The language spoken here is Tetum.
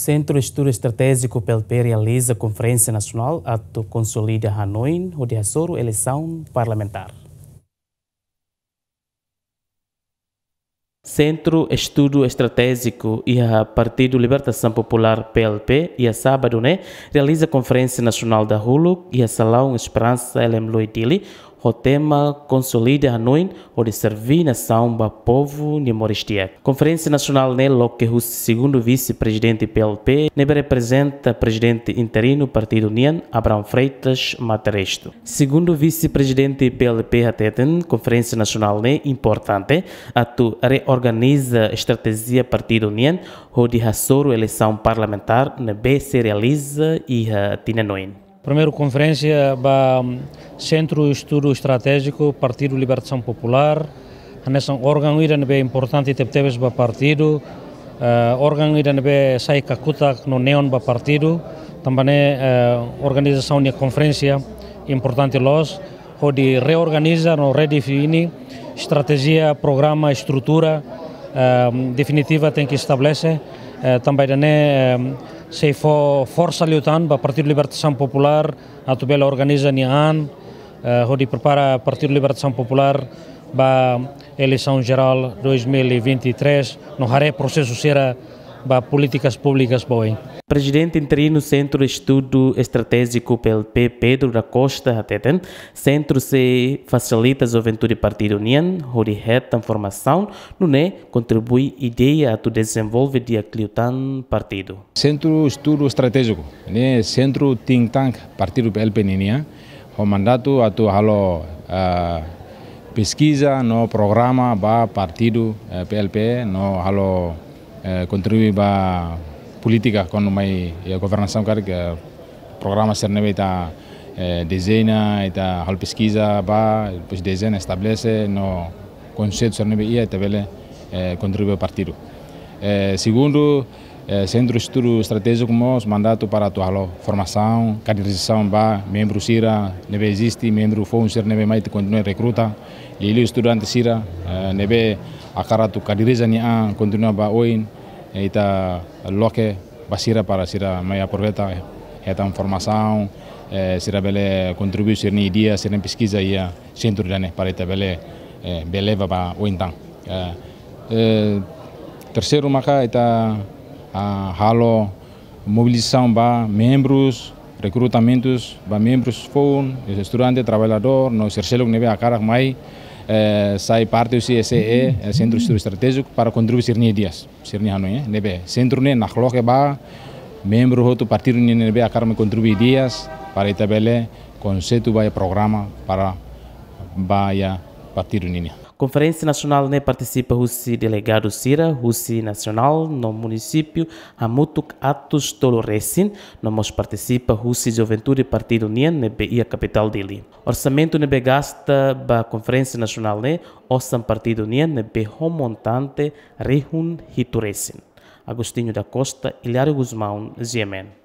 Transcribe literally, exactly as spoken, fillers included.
Sentru Estudu Estratéjiku P L P realiza konferénsia nasionál atu konsolida hanoin hodi hasoru eleisaun parlamentár. Sentru Estudu Estratéjiku iha Partidu Libertasaun Populár, P L P, iha sábadu ne'e realiza konferénsia nasionál dahuluk iha Salaun Esperansa, L M Lui, Dili, ho tema Konsolida Hanoin hodi serví nasaun ba povu nia moris di'ak. Konferénsia nasionál ne'e loke husi segundu vise-prezidente P L P, ne'ebé reprezenta prezidente interinu partidu nian, Abrão Freitas Materestu. Segundu vise-prezidente P L P hateten, konferénsia nasionál ne'e importante atu reorganiza estratéjia partidu nian hodi hasoru eleisaun parlamentár ne'ebé sei realiza iha tinan oin. Primeiru konferénsia ba, mm, Sentru Estudu Estratéjiku Partidu Libertasaun Populár, hanesan órgaun ida ne'ebé importante tebetebes ba partidu, eh, órgaun ida ne'ebé sai kakutak no neon ba partidu, tanba ne'e, eh, organizasaun nia konferénsia importante loos, hodi reorganiza no redefine estratéjia, programa, estrutura, eh, definitiva tenke estabelese, eh, tanba ida-ne'e, eh, sei fó forsa liután ba Partidu Libertasaun Populár atu bele organiza nia an, eh, hodi prepara Partidu Libertasaun Populár ba eleisaun jerál dois mil e vinte e três, no haree prosesu sira ba polítikas públikas ba oin. Prezidente interinu Sentru Estudu Estratéjiku P L P, Pedro da Costa, hateten, sentru sei fasilita juventude partidu nian hodi hetan formasaun, nune'e kontribui ideia atu dezenvolve di'ak liután partidu. Sentru Estudu Estratéjiku ne'e sentru think tank partidu P L P ninian, ho mandatu atu halo, eh, peskiza no programa ba partidu, eh, P L P, no halo, eh, kontribui ba polítika kona-ba, eh, governasaun karik, eh, programa sira ne'ebé ita, eh, dezeña, ita halo peskiza ba, depois dezeña, estabelese, no konseitu sira ne'ebé iha, ita bele, eh, kontribui ba partidu. Eh, segundu, eh, Sentru Estudu Estratéjiku mós mandatu para atu halo formasaun, kaderizasaun ba membru sira ne'ebé eziste, membru foun sira ne'ebé mai, ita kontinua rekruta, liuliu estudante sira, eh, ne'ebé hakarak atu kaderiza nia an, kontinua ba oin, eh, ita loke ba sira para sira mai aproveita, eh, hetan formasaun, eh, sira bele kontribui sira-nia ideia, sira-nia peskiza iha sentru ida-ne'e para ita bele, eh, bele leva ba oin tan. Eh, eh, terseiru maka ita, ah, halo mobilizasaun ba membrus, rekrutamentus ba membrus foun, estudante, traballadór, no sira seluk ne'ebé hakarak mai, eh, sai parte husi S E E, eh, Sentru Estudu Estratéjiku, para kontribui sira-nia ideias, sira-nia hanoin, eh, ne'ebé sentru ne'e nakloke ba membru hotu partidu nian ne'ebé hakarak mai kontribui ideias, para ita bele konseitu ba iha programa para ba iha partidu nian. Konferénsia nasionál ne'e partisipa husi delegadu sira husi nasionál no munisípiu hamutuk atus tolu resin, no mós partisipa husi juventude partidu nian ne'ebé iha kapitál Dili. Orsamentu ne'ebé gasta ba konferénsia nasionál ne'e osan partidu nian ne'ebé ho montante rihun hitu resin. Agostinho da Costa, Hilário Gusmão, G M N.